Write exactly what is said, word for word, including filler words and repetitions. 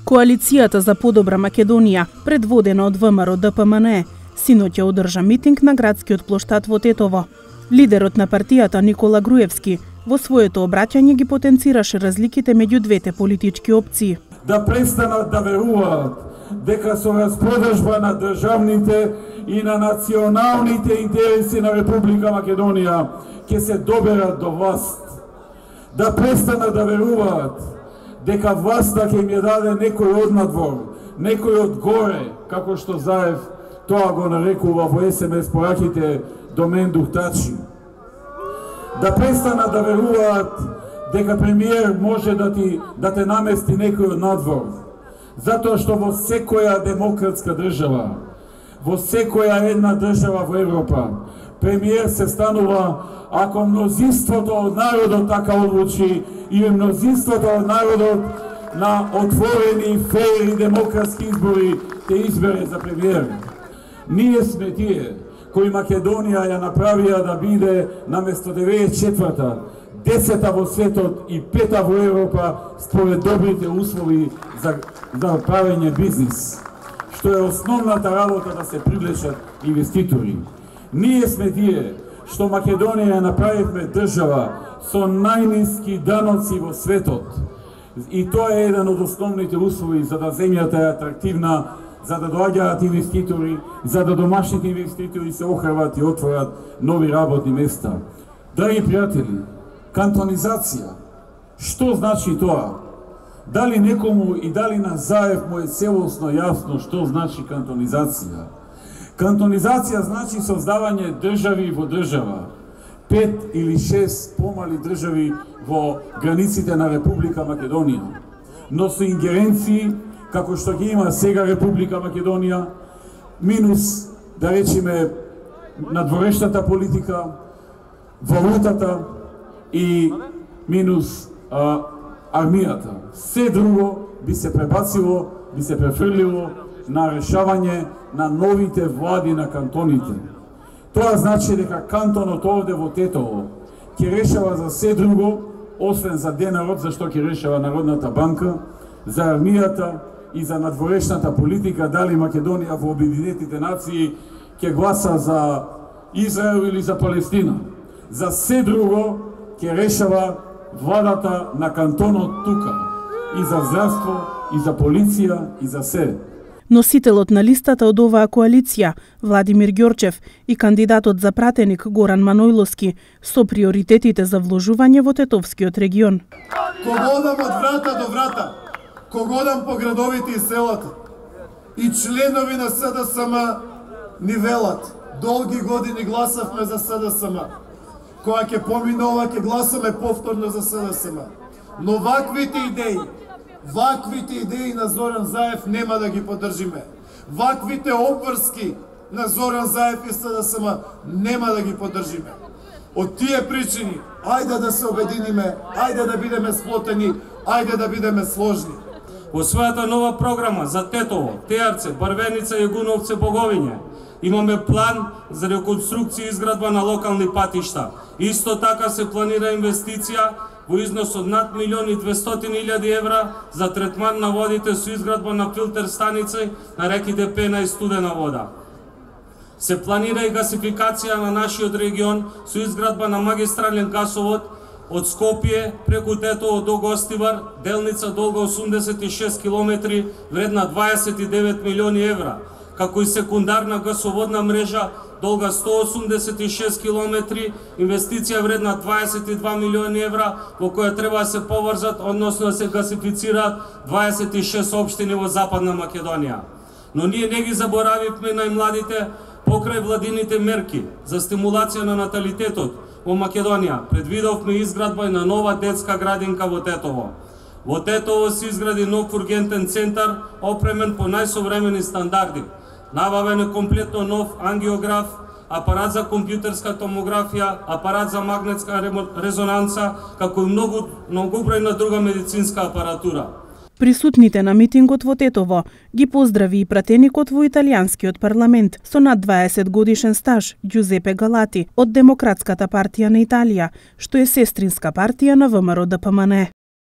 Коалицијата за подобра Македонија, предводена од ВМРО Д П М Н Е, синоќа одржа митинг на градскиот плоштад во Тетово. Лидерот на партијата Никола Груевски во своето обраќање ги потенцираше разликите меѓу двете политички опции. Да престанат да веруваат дека со распродажба на државните и на националните интереси на Република Македонија ќе се доберат до власт. Да престанат да веруваат дека власта ќе им ја даде некој од надвор, некој од горе, како што Заев тоа го нарекува во Ес Ем Ес пораките до мен духтачи. Да престанат да веруваат дека премиер може да ти да те намести некој од надвор, затоа што во секоја демократска држава, во секоја една држава во Европа, премиер се станува ако мнозинството од народот така одлучи и мнозинството од народот на отворени, фејр и демократски избори те избере за премиер. Ние сме тие кои Македонија ја направија да биде наместо деветдесет и четврта, десета во светот и пета во Европа според добрите услови за, за правење бизнис, што е основната работа да се привлечат инвеститори. Ние сме тие што Македонија ја направивме држава со најниски даноци во светот. И тоа е еден од основните услови за да земјата е атрактивна, за да доаѓаат инвеститори, за да домашните инвеститори се охрабат и отворат нови работни места. Драги пријатели, кантонизација, што значи тоа? Дали некому и дали на Заев му е целосно јасно што значи кантонизација? Кантонизација значи создавање држави во држава, пет или шест помали држави во границите на Република Македонија, но со ингеренции како што ги има сега Република Македонија, минус, да речеме, надворешната политика, валутата и минус а, армијата. Се друго би се пребацило, би се префрлило на решавање на новите влади на кантоните. Тоа значи дека кантонот овде во Тетово ќе решава за се друго, освен за денарот, зашто ќе решава Народната банка, за армијата и за надворешната политика, дали Македонија во Обединетите нации ќе гласа за Израел или за Палестина. За се друго ќе решава владата на кантонот тука. И за здравство, и за полиција, и за се. Носителот на листата од оваа коалиција, Владимир Ѓорчев, и кандидатот за пратеник Горан Манојловски со приоритетите за вложување во Тетовскиот регион. Кого одам од врата до врата, кого одам по градовите и селата, и членови на С Д С М ни велат. Долги години гласавме за С Д С М. Која ќе помине ова, ќе гласаме повторно за С Д С М. Но ваквите идеи, ваквите идеи на Зоран Заев нема да ги поддржиме. Ваквите обврски на Зоран Заев и С Д С М нема да ги поддржиме. Од тие причини, ајде да се обединиме, ајде да бидеме сплотени, ајде да бидеме сложни. Во својата нова програма за Тетово, Теарце, Барвеница, Јагуновце, Боговиње, имаме план за реконструкција и изградба на локални патишта. Исто така се планира инвестиција во износ од над милион и двестотини илјади евра за третман на водите со изградба на филтер станици на реките Пена и Студена вода. Се планира и гасификација на нашиот регион со изградба на магистрален гасовод од Скопје преку Тетово до Гостивар, делница долга осумдесет и шест километри, вредна дваесет и девет милиони евра, како и секундарна гасоводна мрежа долга сто осумдесет и шест километри, инвестиција вредна дваесет и два милиони евра, во која треба да се поврзат, односно да се гасифицираат дваесет и шест општини во Западна Македонија. Но ние не ги заборавивме најмладите покрај владините мерки за стимулација на наталитетот во Македонија. Предвидовме изградба на нова детска градинка во Тетово. Во Тетово се изгради нов ургентен центар, опремен по најсовремени стандарди. Набавен е комплетно нов ангиограф, апарат за компјутерска томографија, апарат за магнетска резонанца, како и многу, многобројна друга медицинска апаратура. Присутните на митингот во Тетово ги поздрави и пратеникот во италијанскиот парламент со над дваесет годишен стаж Ѓузепе Галати од Демократската партија на Италија, што е сестринска партија на ВМРО Д П М Н Е.